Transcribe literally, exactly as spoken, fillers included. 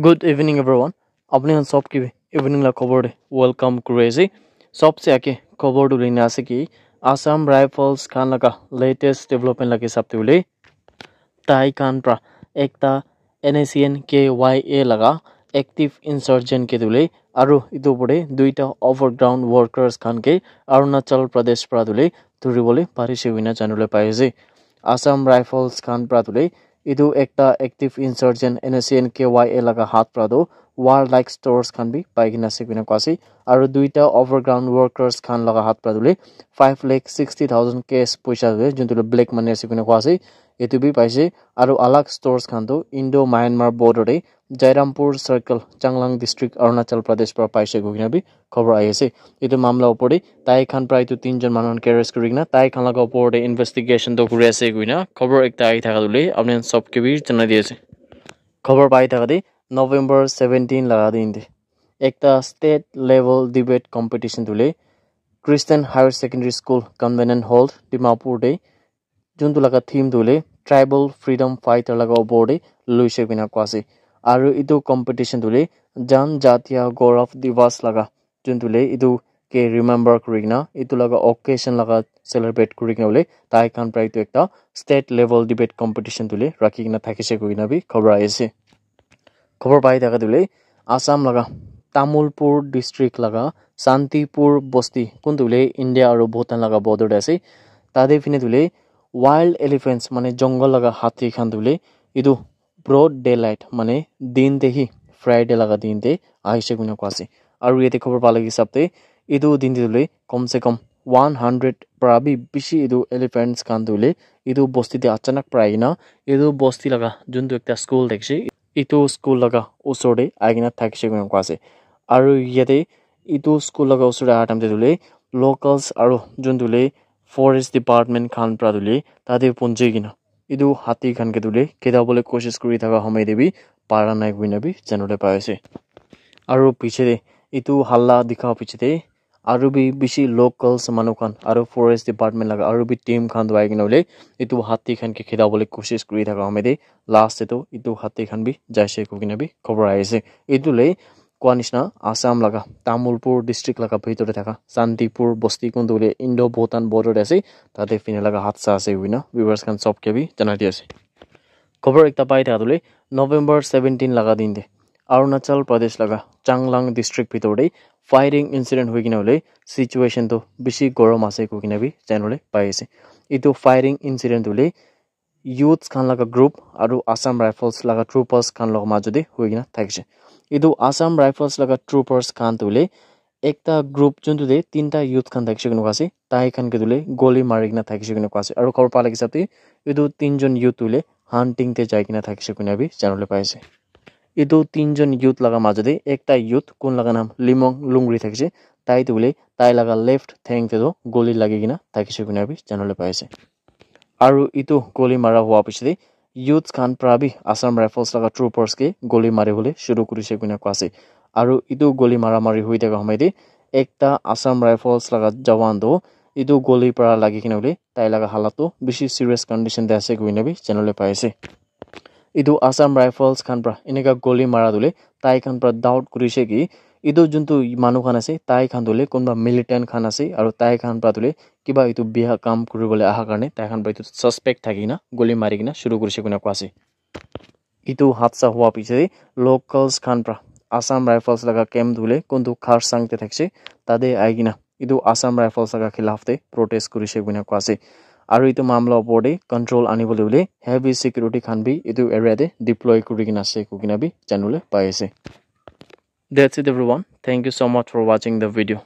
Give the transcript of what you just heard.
Good evening, everyone. Apni khan sob ke evening la khobor te welcome kuri ase. Sobse age khobor tu lina ase ki Assam Rifles khan laga latest development laga hisab te hoile, tai khan pra ekta N S C N K Y A laga active insurgent ke tu hoile, aru etu opor te duita overground workers khan ke Arunachal Pradesh pra tu hoile dhuribole parise koina janibole pai ase. Assam Rifles khan pra tu hoile etu ekta active insurgent N S C N K Y A laga hath pra tu warlike stores khan bi pai kena ase koina koa ase. Aru duita overground workers khan laga hath pra tu hoile five lakh sixty thousand cash poisa ase, juntu hoile black money ase koina koa ase. Etu bi paise. Aru alag stores khan tu Indo Myanmar border te Jairampur Circle, Changlang District, Arunachal Pradesh pra paise koina bi khobor ahi ase. Etu mamla opor te tai khan pra etu tinjon manu khan ke arrest kuri kena tai khan laga opor te investigation toh kuri ase koina khobor ekta ahi thaka tu hoile apni khan sob ke bi janai di ase. Khobor pai thaka te November seventeen laga din te ekta state level debate competition tu hoile Christian Higher Secondary School, Convenient Hall, Dimapur te juntu laga theme tu hoile tribal freedom fighter laga opor te loise koina koa ase. Aru etu competition tu hoile Janjatiya Gaurav Diwas laga juntu hoile etu ke remember kuri kena etu laga occasion laga celebrate kuri kena hoile tai khan pra etu ekta state level debate competition tu hoile rakhi kena thakise koina bi khobor ahi ase. Khobor pai thaka tu hoile Assam laga Tamulpur district laga Santipur bosti kun tu hoile India aru Bhutan laga border te ase. Tate phine tu hoile wild elephants mane jungle laga hathi khan tu hoile etu broad daylight mane din te hi Friday laga din te ahise koina koa ase. Aru yate khobor pa laga hisab te etu din te tu hoile kom se kom one hundred pra bi bishi etu elephants khan tu hoile etu bosti te achanak pra ahi kena etu bosti laga juntu ekta school thakise etu school laga usor te ahi kena thakise koina koa ase. Aru yate etu school laga usor te aha time te tu hoile locals aru juntu hoile forest department khan pra tu hoile tate punji kena etu hathi khan ke tu hoile kheda bole koshish kuri thaka homoi te bi para nai koina bi janibole pai ase. Aru piche te etu halla dikha piche te aru bi bishi locals manu khan aru forest department laga aru bi team khan tu ahi kena hoile etu hathi khan ke kheda bole koshish kuri thaka homoi te last te tu etu hathi khan bi jaise koi kena bi khobor ahi ase. Etu le koa nishina Assam laga Tamulpur district laga bhitor te thaka Santipur bosti kun tu hoile Indo Bhutan border te ase. Tate phine laga hath sa ase koina viewers khan sob ke bi janai di ase. Khobor ekta pai thaka tu hoile November seventeen laga din te Arunachal Pradesh laga Changlang district bhitor te firing incident hoi kena hoile situation tu bishi gorom ase koi kena bi janibole pai ase. Etu firing incident tu hoile youths khan laga group aru Assam Rifles laga troopers khan laga majo te hoi kena thakise. Etu Assam Rifles laga troopers khan tu hoile ekta group juntu te tinta youth khan thakise koina koa ase. Tai khan ke tu hoile goli mari kena thakise koina koa ase. Aru khobor pa laga hisab te etu tinjon youth tu hoile hunting te jai kena thakise koina bi janibole pai ase. Etu tinjon youth laga majo te ekta youth kun laga naam Limong Lungri thakise. Tai tu hoile tai laga left theng te tu goli lagi kena thakise koina bi janibole pai ase. Aru etu goli mara hua piche te youths khan pra bi Assam Rifles laga troopers ke goli mari bole shuru kurise koina koa ase. Aru etu goli mara mari hoi thaka homoi te ekta Assam Rifles laga jawan tu etu goli pra lagi kena hoile tai laga halat tu bishi serious condition te ase koina bi janibole pai ase. Etu Assam Rifles khan pra eneka goli mara tu hoile tai khan pra doubt kurise ki etu juntu manu khan ase tai khan tu hoile kunba militant khan ase aru tai khan pra tu hoile kiba etu bia kam kuri bole aha karne tai khan pra etu suspect thaki kena goli mari kena shuru kurise koina koa ase. Etu hadsa hua piche te locals khan pra Assam Rifles laga camp tu hoile kuntu Kharsang te thakise tate ahi kena etu Assam Rifles laga khilaf te protest kurise koina koa ase. Aru etu mamla opor te control ani bole hoile heavy security khan bi etu area te deploy kuri kena ase koi kena bi janibole pai ase. That's it, everyone. Thank you so much for watching the video.